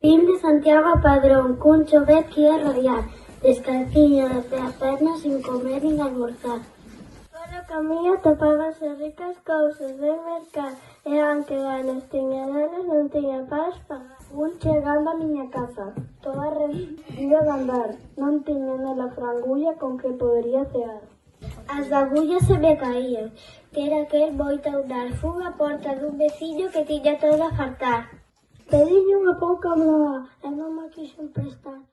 Vim de Santiago a Padrón, cun chovet que ia radiar, descalciña de pé a perna, sin comer nin almorzar. Polo camiño topábase ricas cousas de mercar, e aunque ganas tiña delas, non tiña para pagar. Fun chegando a miña casa, toda arrepentida de andar, non tiña nela frangulla con que podería cear. As agullas se me caían, que era aquel boita dar fuga a porta dun veciño que tiña todo a fartar. Pediñe unha pouca bloa e non me quixen prestar.